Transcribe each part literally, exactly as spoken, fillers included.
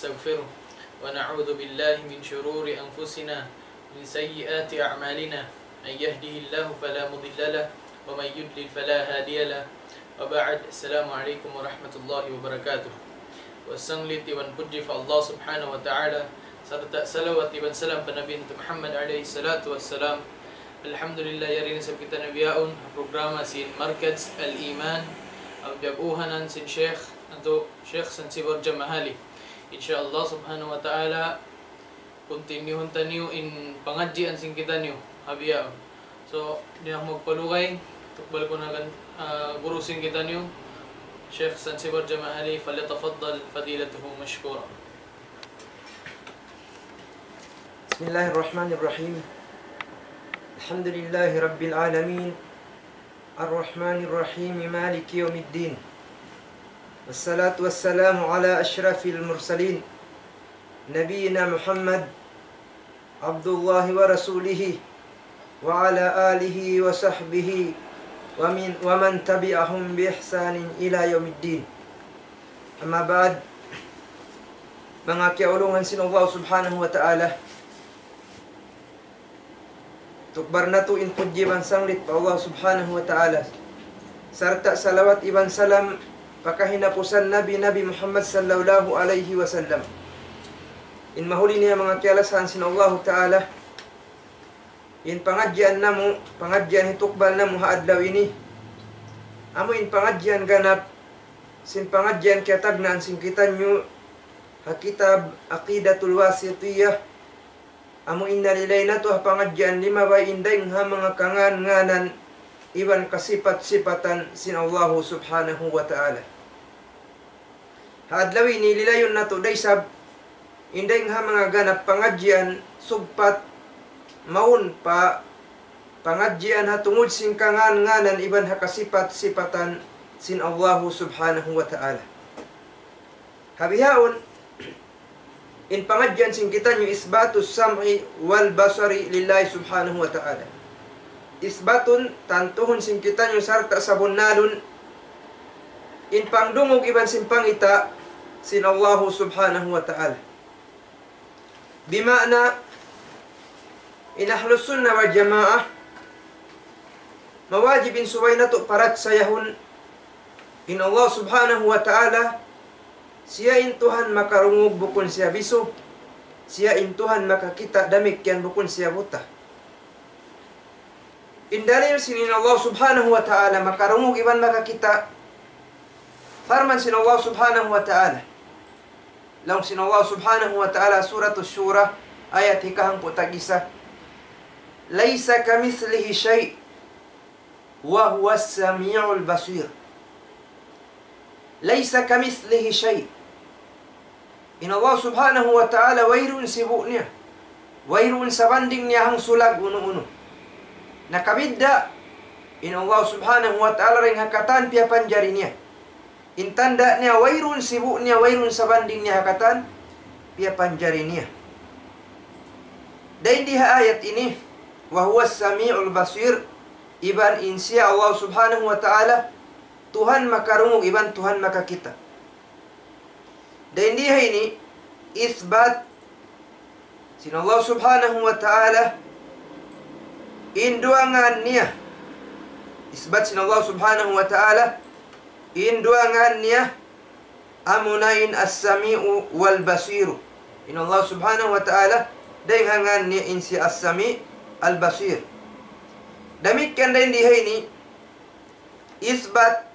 ونستغفره، ونعوذ بالله من شرور أنفسنا ومن سيئات أعمالنا، من يهده الله فلا مضل له، ومن يضلل فلا هادي له. وبعد، السلام عليكم ورحمة الله وبركاته. Pasanglit iban pudji pa Allah Subhanahu wa Ta'ala, sarta' salawat iban salam pa Nabi natu' Muhammad alayhi salatu wassalam. Alhamdulillah, yari na isab kitaniyu bihaun ha programa sin Markaz Al-Iman, amu in piyag-unahan sin Sheikh natu', Sheikh Sansibar Jamahali. Insha Allah Subhanahu wa Ta'ala, kuntinyuhun taniyu in pangadjian sin kitaniyu ha bihaun. So, di' na aku magpalugay, tukbal ku na kan, ah, guru sin kitaniyu, Sheikh Sansibar Jamahali, فليتفضل فضيلته مشكورا. بسم الله الرحمن الرحيم. الحمد لله رب العالمين. الرحمن الرحيم. مالك يوم الدين. والصلاة والسلام على أشرف المرسلين. نبينا محمد عبد الله ورسوله وعلى آله وصحبه ومن، ومن تبعهم بإحسان إلى يوم الدين. أما بعد. Manga kiyaulungan sin Allah Subhanahu wa Ta'ala. Tukbal natu' in pudji iban sanglit pa Allah Subhanahu wa Ta'ala. Sarta' salawat iban salam pa kahinapusan Nabi, Nabi Muhammad sallallahu alayhi wasallam. In mahuli niya manga kiyalasahan sin Allah Ta'ala, in pangadjian namu', pangadjian hitukbal namu' ha adlaw ini, amu in pangadjian ganap sin pangadjian kiyatagnaan sin kitaniyu ha kitab Aqidatul Wasitiyah, amu in nalilay natu' ha pangadjian limabay in dayng ha manga kangan-nganan iban kasipat-sipatan sin Allahu Subhanahu wa Ta'ala. Ha adlaw ini lilayun natu' da isab in dayng ha manga ganap pangadjian sugpat mawn pa pangadjian ha tungud sin kangan-nganan iban ha kasipat-sipatan sin Allahu Subhanahu wa Ta'ala. Ha bihaun, in pangadjian sin kitaniyu إثبات السمع والبصر لله سبحانه وتعالى. Isbatun, tantuhun sin kitaniyu sarta' sabunnalun, in pangdungug iban sin pangita' sin Allahu Subhanahu wa Ta'ala. Bima'na, in Ahlus Sunnah wal Jamaah, mawajib in subay natu' parachayahun in Allah Subhanahu wa Ta'ala, siya in Tuhan makarungug bukun siya bisu, siya in Tuhan makakita' damikkiyan bukun siya buta. In dalil sin in Allah Subhanahu wa Ta'ala makarungug iban makakita', parman sin Allah Subhanahu wa Ta'ala. Laung sin Allah Subhanahu wa Ta'ala, Suratul Shura, ayat hikahangpu' tag-isa. ليس كمثله شيء وهو السميع البصير. ليس كمثله شيء. In Allah Subhanahu wa Ta'ala wayruun sibu' niya, wayruun sabanding niya hangsulag unu-unu. Nakabidda' in Allah Subhanahu wa Ta'ala dayn ha katan piyapanjari niya. In tanda' niya wayruun sibu' niya, wayruun sabanding niya ha katan piyapanjari niya. Dayn di ha ayat ini, وهو السميع البصير, iban in siya Allah Subhanahu wa Ta'ala, Tuhan makarungug iban Tuhan makakita'. Dayn di ha ini, isbat sin Allah Subhanahu wa Ta'ala in duwa ngan niya. Isbat sin Allah Subhanahu wa Ta'ala in duwa ngan niya, amuna in As-Sami'u wal Basiru. In Allah Subhanahu wa Ta'ala, dayn ha ngan niya in siya As-Sami', Al-Basir. Damikkiyan dayn di ha ini, isbat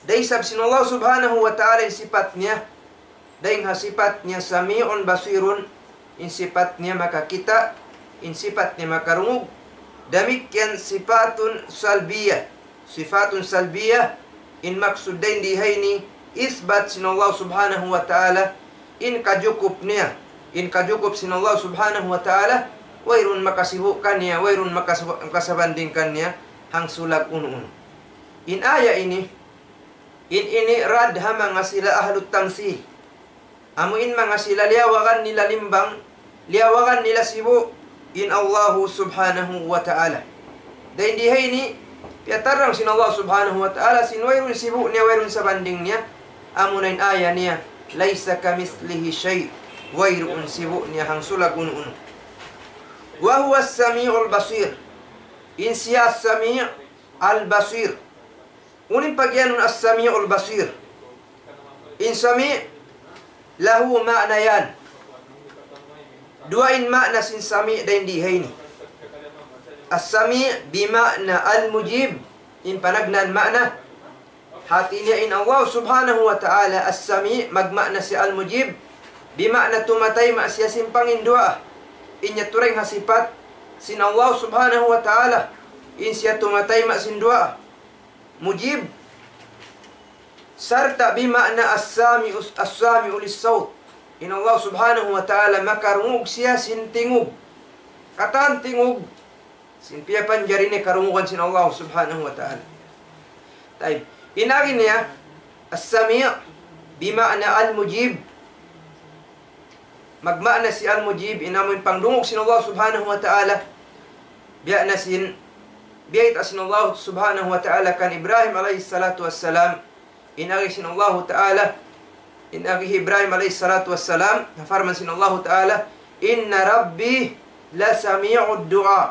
da isab sin Allah Subhanahu wa Ta'ala in sipat niya, dayn ha sipat niya Sami'un Basirun, in sipat niya makakita', in sipat niya makarungug. Damikkiyan sifatun salbiyah, sifatun salbiyah, in maksud dayn di ha ini, isbat sin Allah Subhanahu wa Ta'ala in kajukup niya, in kajukup sin Allah Subhanahu wa Ta'ala, wayruun makasibu' kaniya, wayruun makasibu-, makasabanding kaniya hangsulag unu-unu. In aya ini, in ini rad ha manga sila ahlut tamsil. Amu in manga sila liyawagan nila limbang, liyawagan nila sibu' in Allahu Subhanahu wa Ta'ala. Dayn di ha ini, piyatarrang sin Allah Subhanahu wa Ta'ala sin wayruun sibu' niya, wayruun sabanding niya, amuna in aya niya, ليس كمثله شيء. Wayruun sibu' niya hangsulag unu-unu. وهو السميع البصير. In siya As-Sami' Al-Basir. Unu in pagiyanun As-Sami'ul Basir? In Sami' له معنيان. Duwa in ma'na sin Sami' dayn di ha ini. As-Sami' بمعنى المجيب. In panagnaan ma'na. Hati niya in Allah Subhanahu wa Ta'ala As-Sami' magma'na siya Al-Mujib. Bima'na tumatayma' siya sin panginduwaa. In yadtu dayn ha sipat sin Allah Subhanahu wa Ta'ala. In siya tumatayma' sin duwaa. Mujib. Sarta' bima'na as-sami'u, as-sami'u lis-sawt. In Allah Subhanahu wa Ta'ala makarungug siya sin tingug. Katan tingug sin piyapanjari niya karungugan sin Allah Subhanahu wa Ta'ala. Tayyib. In agi niya, as-sami' bima'na al-mujib. Magma'na sin al-mujib, in amu in pangdungug sin Allah Subhanahu wa Ta'ala. Biya' na sin, biyayta' sin Allah Subhanahu wa Ta'ala kan Ibrahim alayhi salatu wassalam. In agi sin Allah Ta'ala, in agi Ibrahim alayhi salatu wassalam, na parman sin Allah Ta'ala, إن ربي لسميع الدعاء.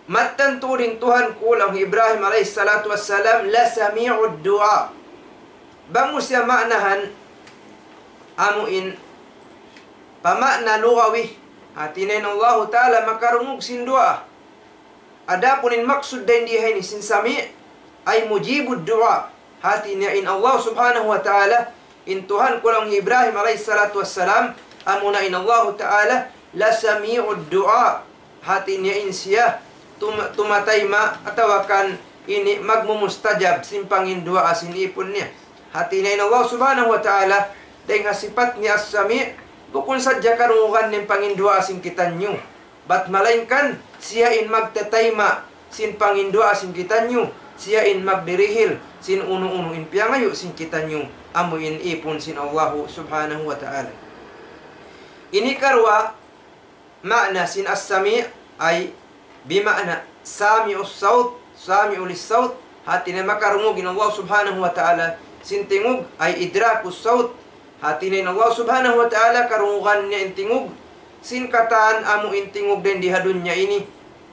Mattan tuud in Tuhan ku, laung Ibrahim alayhi salatu wassalam, لسميع الدعاء. Bang mu siya ma'nahan, amu in pama'na lugawi. Hati niya in Allahu Ta'ala makarungug sin duwaa. Adapun in maksud dayn di ha ini sin Sami', ay mujibud du'a. Hati niya in Allah Subhanahu wa Ta'ala, in Tuhan ku laung Ibrahim alayhi salatu wassalam, amuna in Allahu Ta'ala, لسميع الدعاء. Hati niya in siya tum-, tumatayma' atawa kan ini magmumustajab sin panginduwaa sin ipun niya. Hati niya in Allah Subhanahu wa Ta'ala, dayn ha sipat niya As-Sami', bukun sadja karungugan niya in panginduwaa sin kitaniyu. Bat malaingkan siya in magtatayma' sin panginduwaa sin kitaniyu, siya in magdirihil sin unu-unu in piyangayu' sin kitaniyu, amu in ipun sin Allahu Subhanahu wa Ta'ala. Ini karuwa ma'na sin As-Sami' ay bima'na sami'us sawt, sami'u lis-sawt, hati niya makarungug in Allah Subhanahu wa Ta'ala sin tingug, ay idrakus sawt, hati niya in Allah Subhanahu wa Ta'ala karungugan niya in tingug sin katan amu in tingug dayn di ha dunya ini,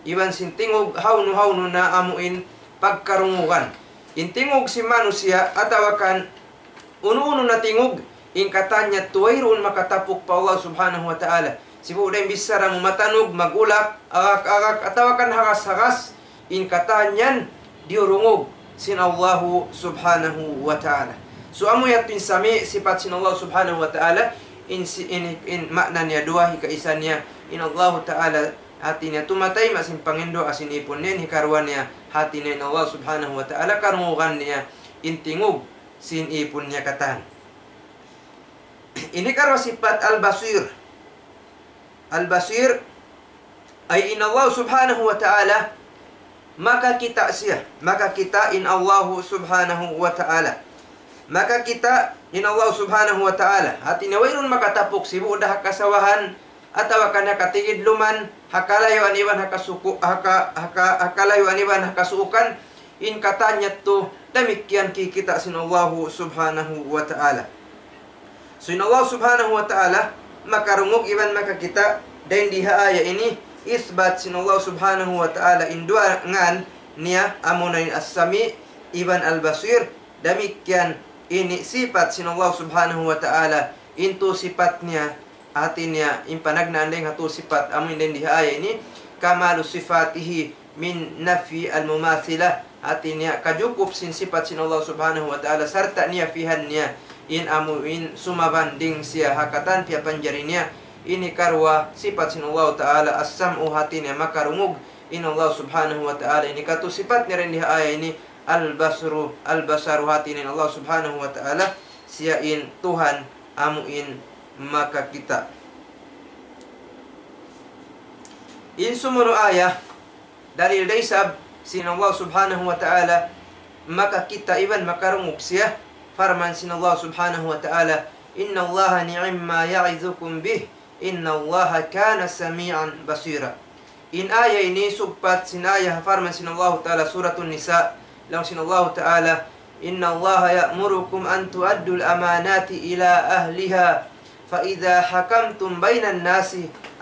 iban sin tingug hawnu-hawnu na amu in pagkarungugan. In tingug sin manusiya' atawa kan unu-unu na tingug, in katan yadtu wayruun makatapuk pa Allah Subhanahu wa Ta'ala. Sibu' da in bichara mu matanug, magulak, agak-agak, atawa kan hagas-hagas, in katan yan diyurungug sin Allahu Subhanahu wa Ta'ala. So, amu yadtu in Sami', sipat sin Allah Subhanahu wa Ta'ala, in si-, in, in ma'na niya duwa, hikaisa niya, in Allahu Ta'ala, hati niya tumatayma' sin panginduwaa sin ipun niya, in hikaruwa niya, hati niya in Allah Subhanahu wa Ta'ala, karungugan niya in tingug sin ipun niya katan. Ini karuwa sipat Al-Basir. Al-Basir, ay in Allah Subhanahu wa Ta'ala, makakita' siya. Makakita' in Allah Subhanahu wa Ta'ala. Makakita' in Allah Subhanahu wa Ta'ala. Hati niya wayruun makatapuk sibu' da ha kasawahan, atawa kan ha katigidluman, ha kalayuan iban ha kasuku-, ha ka-, ha ka-, ha kalayuan iban ha kasuukan, in katan yadtu damikkiyan kikita' sin Allahu Subhanahu wa Ta'ala. So, in Allah Subhanahu wa Ta'ala makarungug iban makakita', dayn di ha aya ini, isbat sin Allah Subhanahu wa Ta'ala in duwa ngan niya, amuna in As-Sami' iban Al-Basir, damikkiyan ini sipat sin Allah Subhanahu wa Ta'ala, in tu sipat niya, hati niya, in panagnaan dayn ha tu sipat, amu in dayn di ha aya ini, kamalu sifatihi min nafi al-mumathilah, hati niya, kajukup sin sipat sin Allah Subhanahu wa Ta'ala, sarta' niyafihan niya, in amu in sumabanding siya ha katan piyapanjari niya, ini karuwa sipat sin Allah Ta'ala, as-sam'u, hati niya, makarungug, in Allah Subhanahu wa Ta'ala, ini katu sipat niya dayn di ha aya ini, al-basru, al-basaru, hati niya in Allah Subhanahu wa Ta'ala, siya in Tuhan amu in makakita'. In sumunu' aya, dalil da isab sin Allah Subhanahu wa Ta'ala makakita' iban makarungug siya, parman sin Allah Subhanahu wa Ta'ala, إن الله نعم ما يعظكم به إن الله كان سميعا بصيرا. In aya ini sugpat sin aya ha parman sin Allahu Ta'ala Suratun Nisa, laung sin Allahu Ta'ala, إن الله يأمركم أن تؤدوا الأمانات إلى أهلها فإذا حكمتم بين الناس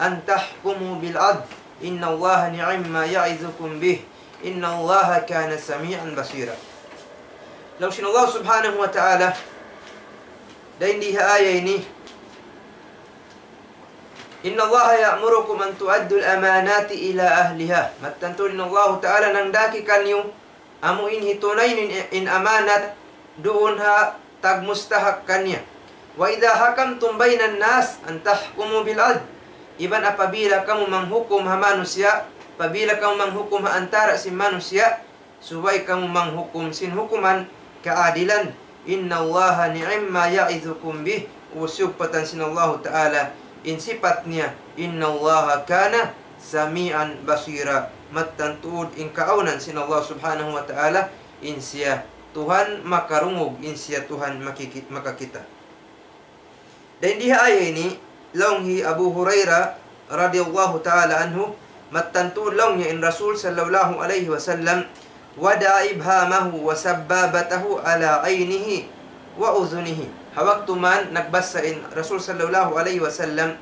أن تحكموا بالعدل إن الله نعم ما يعظكم به إن الله كان سميعا بصيرا. Laung sin Allah subhanahu wa ta'ala, dayn di ha ayat ini, إن الله يأمركم أن تؤدوا الأمانات إلى أهلها. Mattan tuud in Allah ta'ala nangdaki kaniyu amu in hitunay in, in amanat duun ha tagmustahak kaniya. وإذا حكمتم بين الناس أن تحكموا بالعدل. Iban apabila kamu manghukum ha manusiya', apabila kamu manghukum ha antara' sin manusiya', subay kamu manghukum sin hukuman kaadilan. إن الله نعم ما يعظكم به. Usiyugpatan sin Allah ta'ala in sipat niya, إن الله كان سميعا بصيرا. Mattan tuud in kaawnan sin Allah subhanahu wa ta'ala, in siya Tuhan makarungug, in siya Tuhan makiki-, makakita'. Dayn di ha ayat ini, laung hi Abu Hurairah radiyallahu ta'ala anhu, mattan tuud laung niya in Rasul sallallahu alayhi wasallam, وضع إبهامه وسبابته على عينه وأذنه. Ha waktu man nagbasa in Rasul sallallahu alayhi wasallam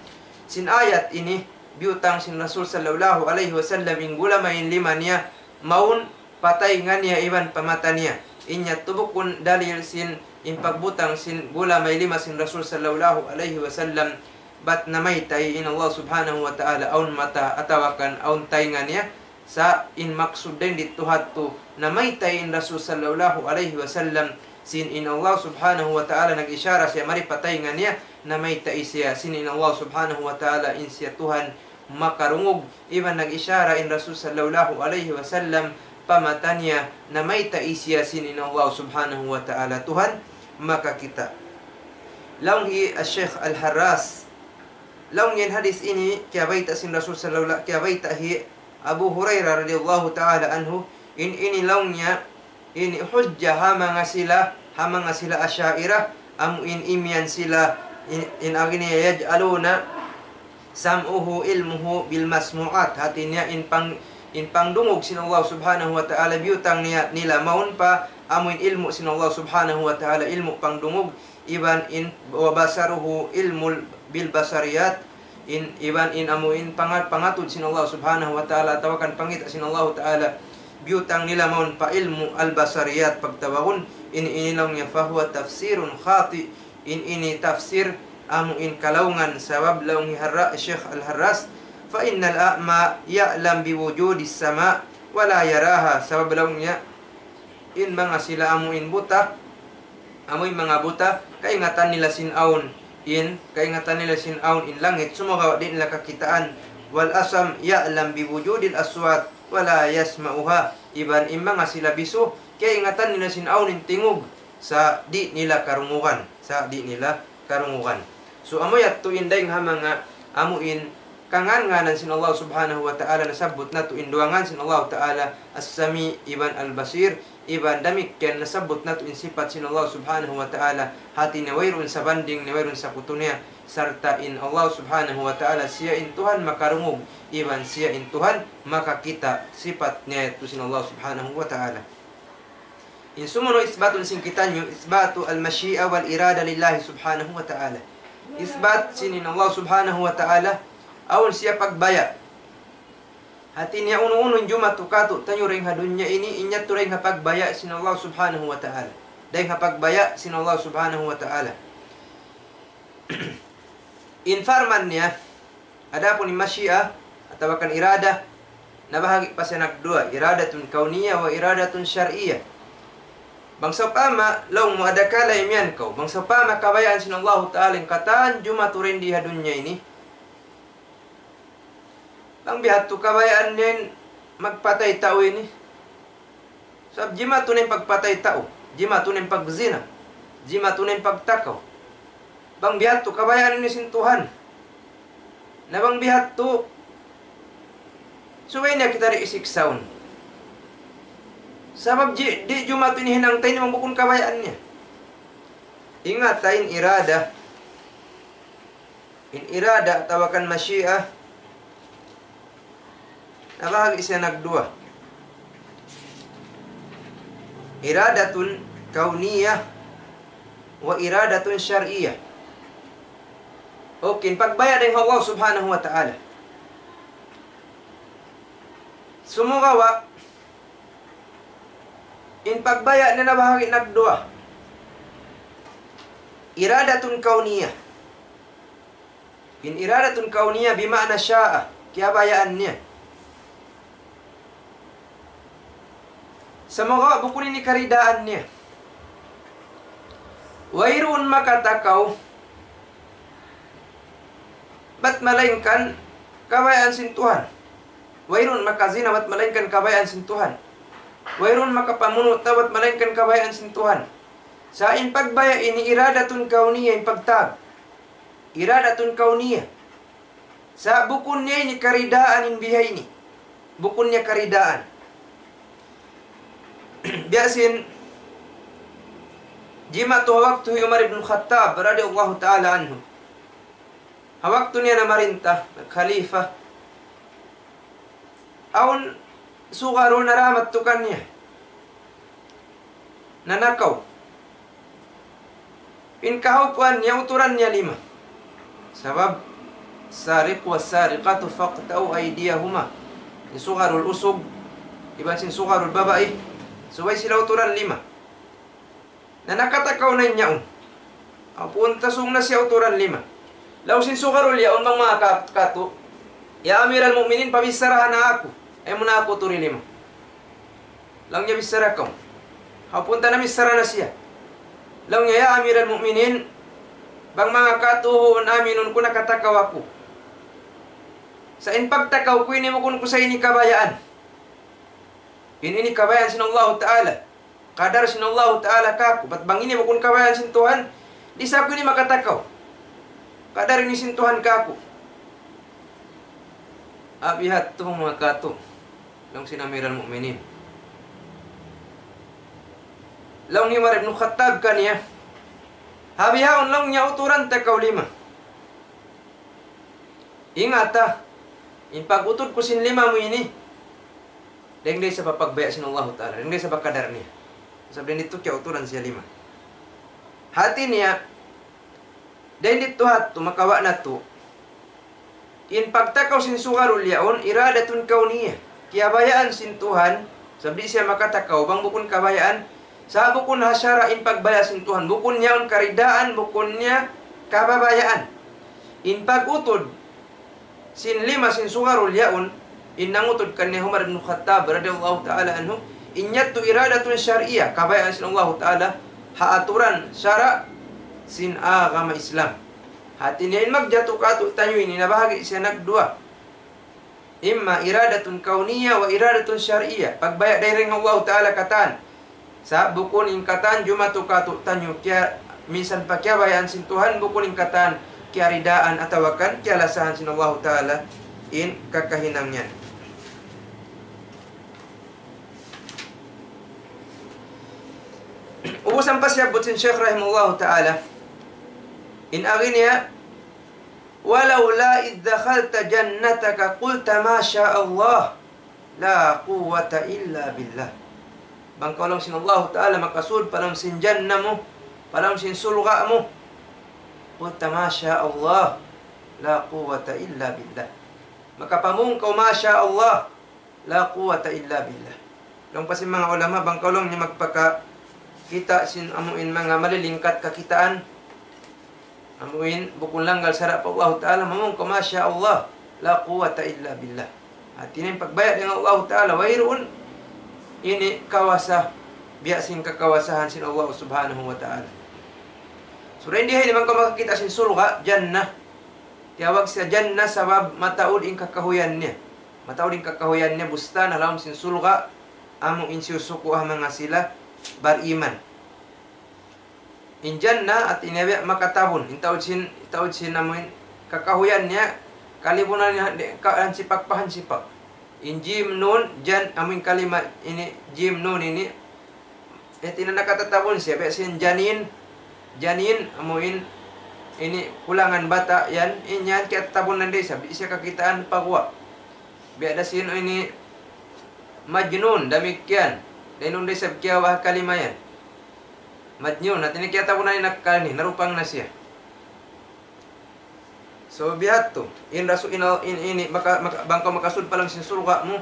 sin ayat ini, biyutang sin Rasul sallallahu alayhi wasallam in gulamay in lima niya, mawn pa taynga niya iban pa mata niya. In yadtu bukun dalil sin in pagbutang sin gulamay lima sin Rasul sallallahu alayhi wasallam, bat namaytay in Allah subhanahu wa ta'ala awn mata atawa kan awn taynga niya. Sa' in maksud dayn didtu hadtu, namaytay in Rasul sallallahu alayhi wasallam, sin in Allah subhanahu wa ta'ala nag-ishara siya mari pa taynga niya, namaytay siya sin in Allah subhanahu wa ta'ala in siya Tuhan makarungug, iban nag-ishara in Rasul sallallahu alayhi wasallam pa mata niya, namaytay siya sin in Allah subhanahu wa ta'ala Tuhan makakita'. Laung hi Sheikh Al-Harras, laung in hadith ini kiyabayta' sin Rasul sallallahu, kiyabayta' hi Abu Hurairah radiyallahu ta'ala anhu, in ini laung niya, ini hujja ha manga sila, ha manga sila Asha'irah, amu in imiyan sila, in, in agi niya يجعلون سمعه علمه بالمسموعات. Hati niya in pang-, in pangdungug sin Allah subhanahu wa ta'ala biyutang niya nila mawn pa amu in ilmu' sin Allah subhanahu wa ta'ala, ilmu' pangdungug, iban in وبصره علم بالبصريات, in, iban in amu in panga-, pangatud sin Allah subhanahu wa ta'ala, atawa kan pangita' sin Allah ta'ala, biyutang nila mawn pa ilmu' al-basariyat pagtawagun, in ini laung niya فهو تفسير خاطئ, in ini tafsir amu in kalaungan, sabab laung hi Harra-, Sheikh Al-Harras, فإن الأعمى يعلم بوجود السماء ولا يراها, sabab laung niya, in manga sila amu in buta, amu in manga buta, kaingatan nila sin awn in, kaingatan nila sin awn in langit, sumagawa' di' nila kakitaan. والأصم يعلم بوجود الأصوات ولا يسمعها. Iban in manga sila bisu, kaingatan nila sin awn in tingug, sa' di' nila karungugan, sa' di' nila karungugan. So, amu yadtu in dayng ha manga amu in kangan-nganan sin Allah subhanahu wa ta'ala, nasabbut natu' in duwa ngan sin Allah ta'ala, As-Sami' iban Al-Basir, iban damikkiyan nasabbut natu' in sipat sin Allah subhanahu wa ta'ala, hati niya wayruun sabanding niya, wayruun sakutu niya, sarta' in Allah subhanahu wa ta'ala, siya in Tuhan makarungug, iban siya in Tuhan makakita', sipat niya yadtu sin Allah subhanahu wa ta'ala. In sumunu' isbatun sin kitaniyu, isbatu al-mashi'a wal irada lillahi subhanahu wa ta'ala. Isbat sin in Allah subhanahu wa ta'ala, awn siya pagbaya'. Hati niya unu-unu in jumatu kātu'niyu dayng ha dunya ini, in yadtu dayng ha pagbaya' sin Allah subhanahu wa ta'ala. Dayng ha pagbaya' sin Allah subhanahu wa ta'ala. In parman niya, adapun in mashi'a, atawa kan irada, nabahagi' pa siya nagduwa, iradatun kawniyya wa iradatun shar'iyya. Bang sawpama, laung mu adakala imiyan kaw, bang sawpama kabayaan sin Allahu ta'ala in katan jumatu dayng di ha dunya ini. Bang bihadtu kabayaan niya in magpatay tau ini. Sabab jimatu na in pagpatay tau, jimatu na in pagzina, jimatu na in pagtakaw. Bang bihadtu kabayaan ini sin Tuhan. Na bang bihadtu, subay niya kita di' isiksaun. Sabab di', di' jumatu ini hinang ta ini bang bukun kabayaan niya. Ingata in irada. In irada atawa kan mashi'a, nabahagi' siya nagduwa. Iradatun كونية وإرادة شرعية. Okay, in pagbaya' dayn ha Allah Subhanahu wa Ta'ala. Sumagawa', in pagbaya' niya nabahagi' nagduwa. إرادة كونية. In إرادة كونية بمعنى شاء, kiyabayaan niya. Sumagawa' bukun ini karidaan niya. Wayruun makatakaw bat malaingkan kabayaan sin Tuhan. Wayruun makazina bat malaingkan kabayaan sin Tuhan. Wayruun makapamunu' tau bat malaingkan kabayaan sin Tuhan. Sa' in pagbaya' ini إرادة كونية, in pagtag. إرادة كونية. Sa' bukun niya ini karidaan in biha ini. Bukun niya karidaan. Biya' sin jimatu ha waktu hi Umar ibn Khattab radiyallahu ta'ala anhu. Ha waktu niya namarinta, khalifa. Awn sugarul naramat tu kaniya. Nanakaw. In kahaupuan niya, uturan niya lima. Sabab, السارق والسارقة فاقطعوا أيديهما. In sugarul usug, iban sin sugarul babai, subay sila uturan lima. Na nakatakaw na in yaun. Hapun ta sung na siya uturan lima. Laung sin sugarul yaun bang manga ka-, katu', "Ya Amiral Mu'minin, pabicharaha na aku. Ayaw mu na aku uturi lima." Laung niya, "Bichara kaw." Hapun ta namichara na siya. Laung niya, "Ya Amiral Mu'minin, bang manga katu' huun aminun ku nakatakaw aku. Sa' in pagtakaw ku ini bukun ku sa' ini kabayaan. In ini kabayaan sin Allahu Ta'ala. Kadar sin Allahu Ta'ala kāku'. Bat bang ini bukun kabayaan sin Tuhan, di' sa aku ini makatakaw. Kadar ini sin Tuhan kāku'." Abihat tu manga katu'. Laung sin Amiral Mu'minin. Laung hi Umar ibn Khattab kaniya, "Ha bihaun," laung niya, "uturan ta kaw lima. Ingata, in pag-utud ku sin lima mu ini, dayn da isab ha pagbaya' sin Allahu Ta'ala, dayn da isab ha kadar niya. Sabab dayn ditu kiyauturan siya lima." Hati niya, dayn ditu ha yadtu makawa' natu'. In pagtakaw sin sugarul yaun, إرادة كونية. Kiyabayaan sin Tuhan, sabab di' siya makatakaw bang bukun kabayaan, sa' bukun ha sara' in pagbaya' sin Tuhan, bukun yaun karidaan, bukun niya kababayaan. In pag-utud sin lima sin sugarul yaun, in nangutud kaniya Umar ibn Khattab radiyallahu ta'ala anhu, in yadtu إرادة شرعية, kabayaan sin Allahu Ta'ala, ha aturan sara' sin agama Islam. Hati niya in magjatu kātu'niyu ini nabahagi' siya nagduwa. إما إرادة كونية وإرادة شرعية. Pagbaya' dayn ha Allahu Ta'ala katan. Sa' bukun in katan jumatu kātu'niyu kiya-, minsan pa kiyabayaan sin Tuhan, bukun in katan kiyaridaan atawa kan kiyalasahan sin Allahu Ta'ala in kakahinang yan. Ubus ampa siyabbut sin Shaykh rahimahullahu ta'ala, in agi niya, "ولولا إذ دخلت جنتك قلت ما شاء الله لا قوة إلا بالله." Bang kaw laung sin Allahu Ta'ala makasud pa lawm sin jannah mu, pa lawm sin surga' mu, قلت ما شاء الله لا قوة إلا بالله. Makapamung kaw, "ما شاء الله لا قوة إلا بالله." Laung pa sin manga ulama, bang kaw laung niya magpakakita' sin amuin manga malilingkat kakitaan, amuin bukun langgal sara' pa Allahu Ta'ala, mamung kaw, "ما شاء الله لا قوة إلا بالله." Hati niya in pagbaya' dayn ha Allahu Ta'ala, wayruun ini kawasa, biya' sin kakawasahan sin Allah Subhanahu wa Ta'ala. So, dayn di ha ini bang kaw makakita' sin surga', jannah, tiyawag siya jannah sabab mataud in kakahuyan niya. Mataud in kakahuyan niya, bustan ha lawm sin surga', amu in siyusuku' ha manga sila bariman. In jannah, hati niya biya' makatabun. In taud sin, taud sin amu in kakahuyan niya, kalibunan niya, di-, ka-, hansipak pa hansipak. In jim nun, jan-, amu in kalima ini, jim nun ini, hati niya nakatatabun siya, biya' sin janin, janin, amu in, ini kulangan bata' yan, in yan kiyatatabun na da isab, di' siya kakitaan pa guwa'. Biya' da sin ini majnun, damikkiyan. Dayn duun da isab kiyawa' ha kalima yan. Madnyun, hati niya kiyatawagun na in akkal niya, narupang na siya. So, biya' hādtu, in rasu-, in, in, ini, maka-, maka-, bang kaw makasud pa lawm sin surga' mu,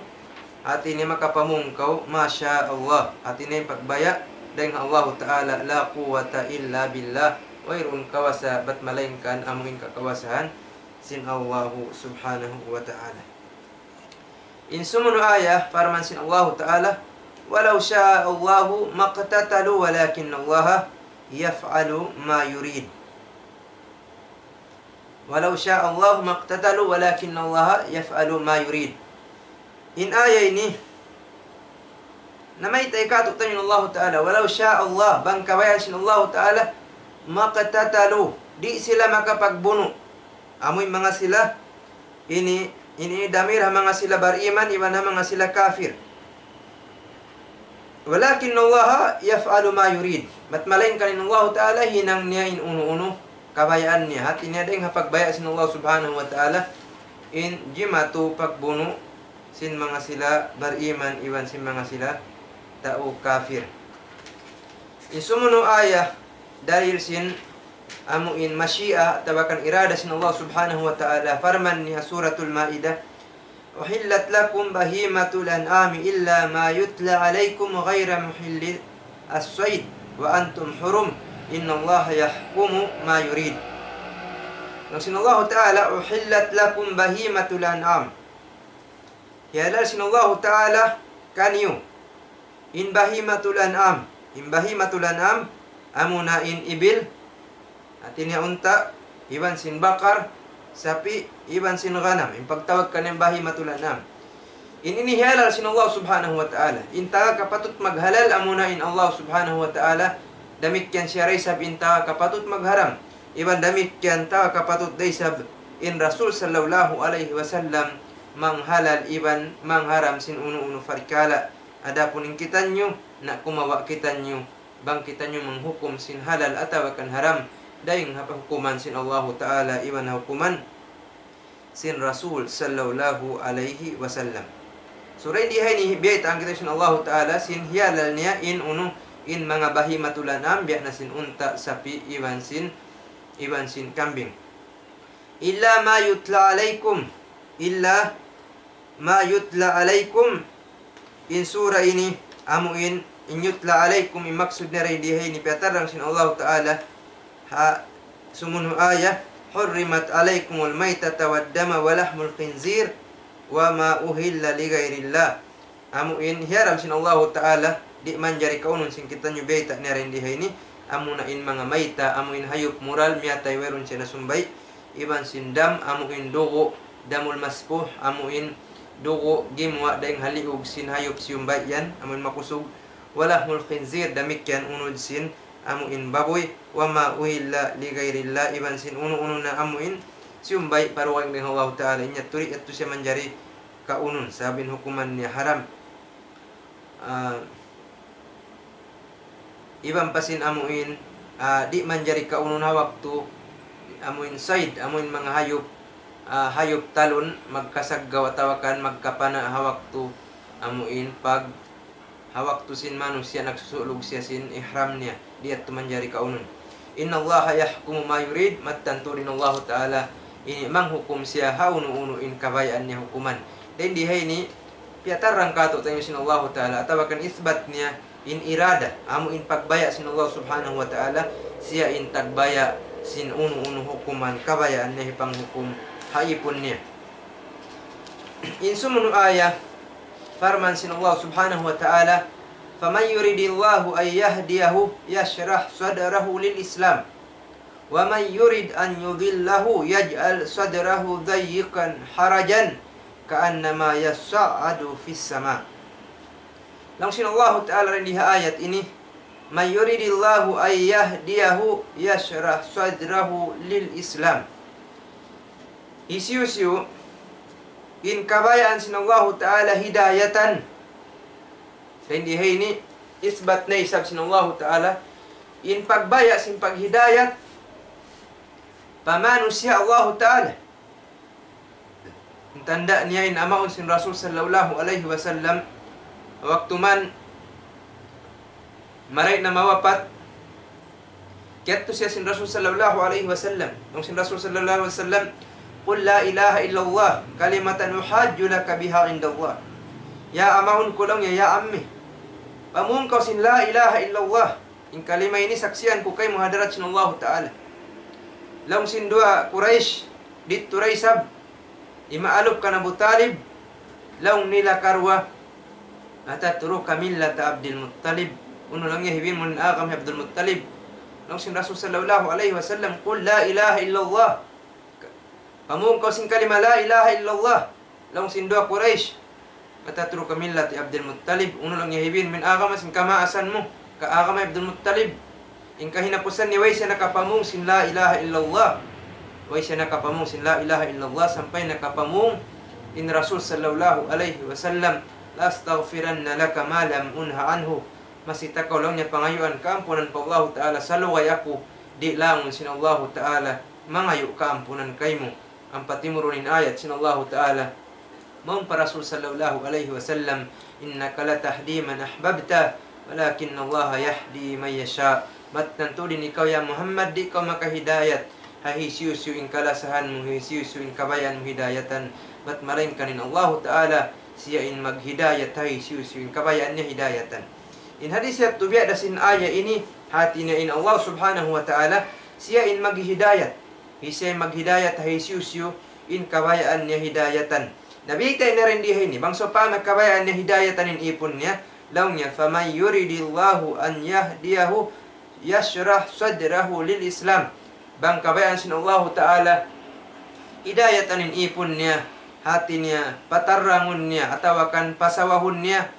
hati niya makapamung kaw, masha Allah. Hati niya in pagbaya', dayn ha Allahu Ta'ala, la quwwata illa billah. Wayruun kawasa, bat malaingkan amu in kakawasahan sin Allahu Subhanahu wa Ta'ala. In sumunu' ayat, parman sin Allahu Ta'ala, ولو شاء الله ما اقتتلوا ولكن الله يفعل ما يريد. ولو شاء الله ما اقتتلوا ولكن الله يفعل ما يريد. In ayat ini, namayta' kātu'niyu in Allahu Ta'ala, ولو شاء الله, bang kabayaan sin Allahu Ta'ala, ما اقتتلوا, di' sila makapagbunu'. Amu in manga sila, ini, ini damir ha manga sila bariman, iban ha manga sila kafir. ولكن الله يفعل ما يريد. Bat malaingkan in Allahu Ta'ala hinang niya in unu-unu kabayaan niya. Hati niya dayn ha pagbaya' sin Allah Subhanahu wa Ta'ala in jimatu pagbunu' sin manga sila bariman iban sin manga sila tau kafir. In sumunu' ayat dalil sin amu in mashi'a atawa kan irada sin Allah Subhanahu wa Ta'ala, parman niya Suratul Ma'idah, أحلت لكم بهيمة الأنعام إلا ما يتلى عليكم غير محلي الصيد وأنتم حرم إن الله يحكم ما يريد. Laung sin Allahu Ta'ala, أحلت لكم بهيمة الأنعام. Hihalal sin Allahu Ta'ala kaniyu in bahimatul an'am. In bahimatul an'am, amuna in ibil, hati niya unta', iban sin bakar, sapi', iban sin ghanam. In pagtawag kaniya bahimatul an'am. In ini hihalal sin Allah Subhanahu wa Ta'ala. In taga kapatut maghalal amuna in Allah Subhanahu wa Ta'ala. Damikkiyan siya da isab in taga kapatut magharam. Iban damikkiyan taga kapatut da isab in Rasul sallallahu alayhi wasallam manghalal iban mangharam sin unu-unu parkala'. Adapun in kitaniyu, na kumawa' kitaniyu, bang kitaniyu manghukum sin halal atawa kan haram, dayn ha pahukuman sin Allahu Ta'ala iban ha hukuman sin Rasul sallallahu alayhi wasallam. So, dayn di ha ini, biyaytaan kitaniyu sin Allahu Ta'ala, sin hihalal niya in unu, in manga bahimatul an'am, biya' na sin unta', sapi', iban sin, iban sin kambing. إلا ما يتلى عليكم, إلا ما يتلى عليكم. In sura ini, amu in, in يتلى عليكم, in maksud niya dayn di ha ini, piyatarrang sin Allahu Ta'ala, ha sumunu' ayat, حرمت عليكم الميتة والدم ولحم الخنزير وما أهل لغير الله. Amu in hiyaram sin Allahu Ta'ala, di' manjari kaunun sin kitaniyu biyayta' niya dayn di ha ini, amuna in manga mayta, amu in hayup mural, miyatay wayruun siya nasumbay', iban sin dam, amu in dugu', damul masfuh, amu in dugu' gimuwa' dayn ha liug sin hayup siyumbay' yan, amu in makusug, ولحم الخنزير, damikkiyan unud sin amu in babuy, وما أهل لغير الله, iban sin unu-unu na amu in siyumbay' pa dugaing dayn ha Allahu Ta'ala, in yadtu di' yadtu siya manjari kaunun, sabab in hukuman niya haram. Ah, iban pa sin amu in, ah, di' manjari kaunun ha waktu, amu in sayd, amu in manga hayup, ah, hayup talun, magkasaggaw atawa kan magkapana' ha waktu, amu in pag ha waktu sin manusiya' nagsusulug siya sin ihram niya, di' yadtu manjari kaunun. إن الله يحكم ما يريد, mattan tuud in Allahu Ta'ala ini manghukum siya ha unu-unu in kabayaan niya hukuman. Dayn di ha ini, piyatarrang kātu'niyu sin Allahu Ta'ala, atawa kan isbat niya in irada, amu in pagbaya' sin Allah Subhanahu wa Ta'ala, siya in tagbaya' sin unu-unu hukuman, kabayaan niya hipanghukum ha ipun niya. In sumunu' ayat, parman sin Allah Subhanahu wa Ta'ala, فمن يرد الله أن يهديه يشرح صدره للإسلام ومن يرد أن يضله يجعل صدره ضيقا حرجا كأنما يصعد في السماء. Laung sin Allahu Ta'ala dayn di ha ayat ini, من يرد الله أن يهديه يشرح صدره للإسلام. Hisiyu-siyu in kabayaan sin Allahu Ta'ala hidayatan. Dayn di ha ini, isbat na isab sin Allahu Ta'ala in pagbaya' sin paghidayat pa manusiya' Allahu Ta'ala. In tanda' niya in amaun sin Rasul sallallahu alayhi wasallam, waktu man maray na mawapat, Yadtu siya sin Rasul sallallahu alayhi wasallam. Laung sin Rasul sallallahu alayhi wasallam, "قل لا إله إلا الله كلمة أحاج لك بها عند الله." Ya amaun ku laung niya, ya ammi. Pamung kaw sin la ilaha illallah. In kalima ini saksian ku kaymu ha hadarat sin Allahu Ta'ala. Laung sin duwa Quraysh, didtu da isab, imaalup kan Abu Talib, laung nila karuwa, "أتترك ملة عبد المطلب." Unu laung niya hibil mu in agama hi Abdul Muttalib. Laung sin Rasul sallallahu alayhi wasallam, "قل لا إله إلا الله." Pamung kaw sin kalima la ilaha illallah. Laung sin duwa Quraysh, "أتترك ملة عبد المطلب." Unu laung niya hibil mu in agama sin kamaasan mu, ka agama Abdul Muttalib. In kahinapusan niya way siya nakapamung sin la ilaha illallah. Way siya nakapamung sin la ilaha illallah sampay nakapamung in Rasul sallallahu alayhi wasallam, "لأستغفرن لك ما لم أنه عنه." Masi ta kaw laung niya pangayuan kaampunan pa Allahu Ta'ala salugay aku, di' langun sin Allahu Ta'ala mangayu' kaampunan kaymu. Ampa timurun in ayat sin Allahu Ta'ala mawn pa Rasul sallallahu alayhi wasallam, "إنك لا تهدي من أحببت ولكن الله يهدي من يشاء." Bat tantu' in ikaw ya Muhammad, di' kaw makahidayat ha hisiyu-siyu in kalasahan mu, hisiyu-siyu in kabayaan mu hidayatan. Bat malaingkan in Allahu Ta'ala, siya in maghidayat ha hisiyu-siyu in kabayaan niya hidayatan. In hadis yadtu biya' da sin ayat ini, hati niya in Allah Subhanahu wa Ta'ala, siya in maghidayat. Hisiyu in maghidayat ha hisiyu-siyu in kabayaan niya hidayatan. Nabi ta ini rin di ini, bang sawpama kabayaan niya hidayatan in ipun niya, laung niya, "فمن يرد الله أن يهديه يشرح صدره للإسلام." Bang kabayaan sin Allahu Ta'ala hidayatan in ipun niya, hati niya, patarrangun niya, atawa kan pasawahun niya,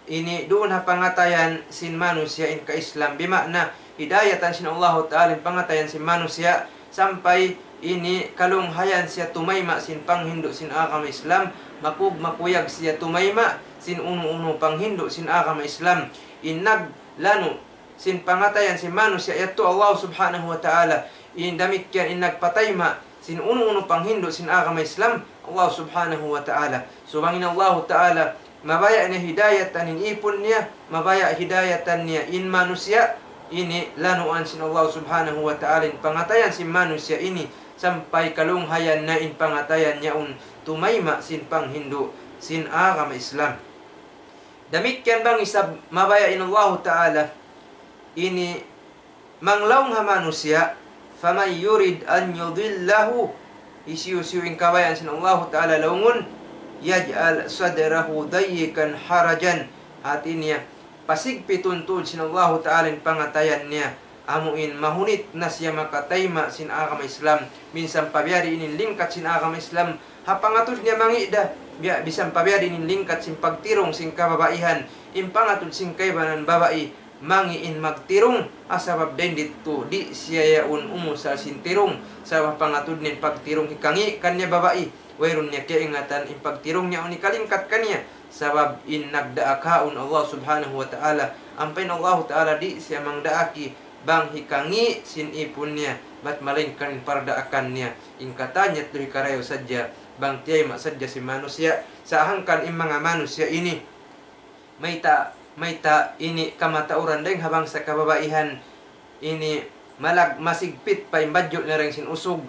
ini duun ha pangatayan sin manusiya' in ka-Islam. Bima'na, hidayatan sin Allahu Ta'ala in pangatayan sin manusiya', sampay ini kalunghayan siya tumayma' sin panghindu' sin agama Islam, makug-, makuyag siya tumayma' sin unu-unu panghindu' sin agama Islam. In naglanu' sin pangatayan sin manusiya' yadtu Allah Subhanahu wa Ta'ala. In damikkiyan in nagpatayma' sin unu-unu panghindu' sin agama Islam, Allah Subhanahu wa Ta'ala. So bang in Allahu Ta'ala mabaya' niya hidayatan in ipun niya, mabaya' hidayatan niya in manusiya', ini lanuan sin Allah Subhanahu wa Ta'ala in pangatayan sin manusiya' ini, sampay kalunghayan na in pangatayan yaun tumayma' sin panghindu' sin agama Islam. Damikkiyan bang isab mabaya' in Allahu Ta'ala ini manglaung ha manusiya', "فمن يرد أن يضله," hisiyu-siyu in kabayaan sin Allahu Ta'ala laungun, "يجعل صدره ضيقا حرجا." Hati niya, pasigpitun tuud sin Allahu Ta'ala in pangatayan niya, amu in mahunit na siya makatayma' sin agama Islam. Minsan pa biya' diin in lingkat sin agama Islam, ha pangatud niya mangi' da, biya' minsan pa biya' diin in lingkat sin pagtirung sin kababaihan, in pangatud sin kaibanan babai, mangi' in magtirung, ah, sabab dayn didtu, di' siya yaun umusal sin tirung, sabab pangatud niya in pagtirung hikangi' kaniya babai, wayruun niya kaingatan in pagtirung niya yaun hikalingkat kaniya, sabab in nagdaak haun Allah Subhanahu wa Ta'ala, ampa in Allahu Ta'ala di' siya mangdaaki bang hikangi' sin ipun niya, bat malaingkan in pardaakan niya, in katan niya yadtu hikarayaw sadja, bang tiyayma' sadja sin manusiya', sa' hangkan in manga manusiya' ini, mayta', mayta' ini kamatauran dayng ha bangsa kababaihan ini malag-, masigpit pa in badju' nila dayng sin usug.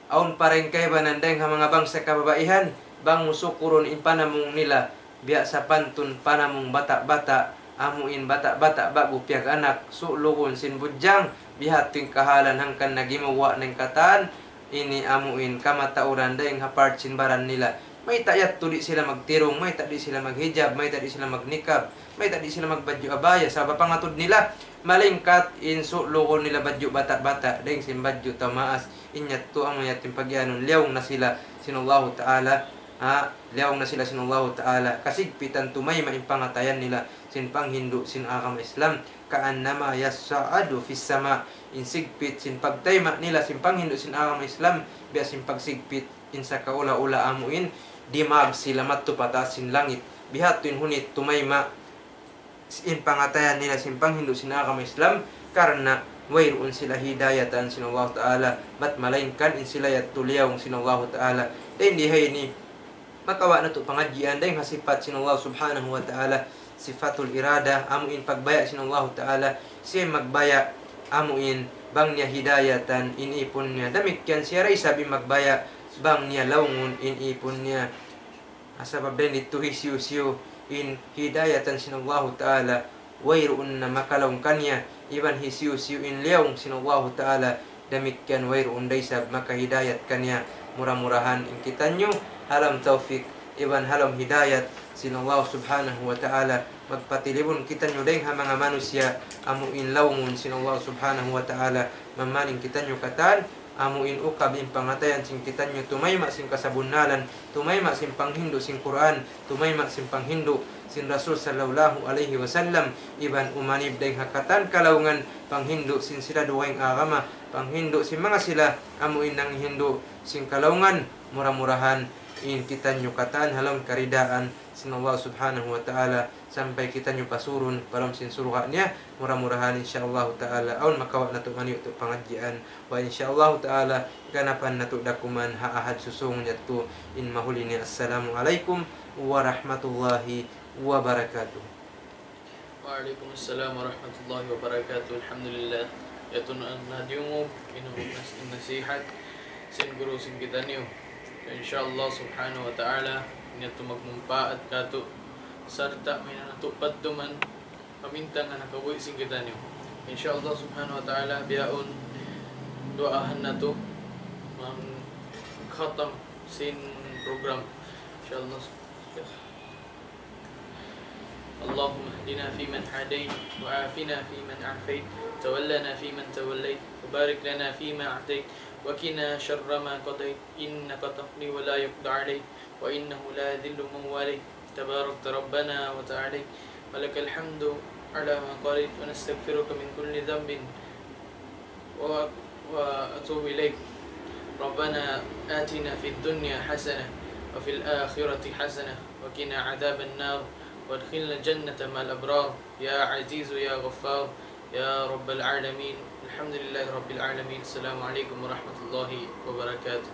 Awn pa dayng kaibanan dayng ha manga bangsa kababaihan, bang mu sukurun in panamung nila, biya' sapantun panamung bata'-bata', amu in bata'-bata' ba'gu piyag-anak, sulugun sin budjang, bihadtu in kahalan hangkan na gimuwa' na in katan, ini amu in kamatauran dayng ha part sin baran nila. Mayta' yadtu di' sila magtirung, mayta' di' sila maghijab, mayta' di' sila magnikab, mayta' di' sila magbadju' abaya, sabab pangatud nila, malingkat in sulugun nila badju' bata'-bata', dayng sin badju' tau maas, in yadtu amu yadtu in pagiyanun, liyaung na sila sin Allahu Ta'ala, ha, liyaung na sila sin Allahu Ta'ala, kasigpitan tumayma' in pangatayan nila, sin panghindu' sin agama Islam, كأنما يصعد في السماء. In sigpit sin pagtayma' nila sin panghindu' sin agama Islam, biya' sin pagsigpit in sakaula-ula amu in dimag sila madtu pa taas sin langit. Bihadtu in hunit tumayma' in pangatayan nila sin panghindu' sin agama Islam, karna' wayruun sila hidayatan sin Allah Ta'ala, bat malaingkan in sila yadtu liyaung sin Allah Ta'ala. Dayn di ha ini, makawa' natu' pangadjian dayng ha sipat sin Allah Subhanahu wa Ta'ala, sifatul irada, amu in pagbaya' sin Allahu Ta'ala, siya in magbaya', amu in bang niya hidayatan in ipun niya. Damikkiyan siya da isab in magbaya' bang niya laungun in ipun niya. Sabab dayn didtu hisiyu-siyu in hidayatan sin Allahu Ta'ala, wayruun na makalaung kaniya, iban hisiyu-siyu in liyaung sin Allahu Ta'ala, damikkiyan wayruun da isab makahidayat kaniya. Mura-murahan in kitaniyu ha lawm tawfik iban ha lawm hidayat sin Allah Subhanahu wa Ta'ala, magpatilibun kitaniyu dayng ha manga manusiya' amu in laungun sin Allah Subhanahu wa Ta'ala, mamaling kitaniyu katan, amu in ukab in pangatayan sin kitaniyu tumayma' sin kasabunnalan, tumayma' sin panghindu' sin Qur'an, tumayma' sin panghindu' sin Rasul sallallahu alayhi wasallam, iban umanib dayng ha katan kalaungan, panghindu' sin sila dugaing agama, panghindu' sin manga sila amu in nanghindu' sin kalaungan, mura-murahan in kitaniyu katan ha lawm karidaan sin Allah Subhanahu wa Ta'ala, sampay kitaniyu pasurun pa lawm sin surga' niya. Mura-murahan, insya Allah Ta'ala, awn makawa' natu' maniyu' tu pangadjian. Wa insya Allah Ta'ala, ganapan natu' da kuman ha Ahad susūng yadtu in mahuli niya. Assalamu alaykum warahmatullahi wabarakatuh. Wa alaykum assalam warahmatullahi wabarakatuh. Alhamdulillah. Yadtu na, na diyungug in nas-, in nasihat sin guru sin kitaniyu. Insya Allah Subhanahu wa Ta'ala, in yadtu magmumpaat kātu', sarta' mahinang natu' padduman, pamintangan ha kabuhi' sin kitaniyu. Insya Allah Subhanahu wa Ta'ala, bihaun duwaahan natu' mangkhatam sin program. Insya Allah. اللهم اهدنا فيمن هديت، وعافنا فيمن عافيت، وتولنا فيمن توليت، وبارك لنا فيما أعطيت، وقنا شر ما قضيت، إنك تقضي ولا يقضى عليك، وإنه لا يذل من واليت، تباركت ربنا وتعاليت، ولك الحمد على ما قضيت، ونستغفرك من كل ذنب و-، وأتوب إليك. ربنا آتنا في الدنيا حسنة وفي الآخرة حسنة وقنا عذاب النار وأدخلنا الجنة مع الأبرار يا عزيز يا غفار يا رب العالمين. الحمد لله رب العالمين. السلام عليكم ورحمة الله وبركاته.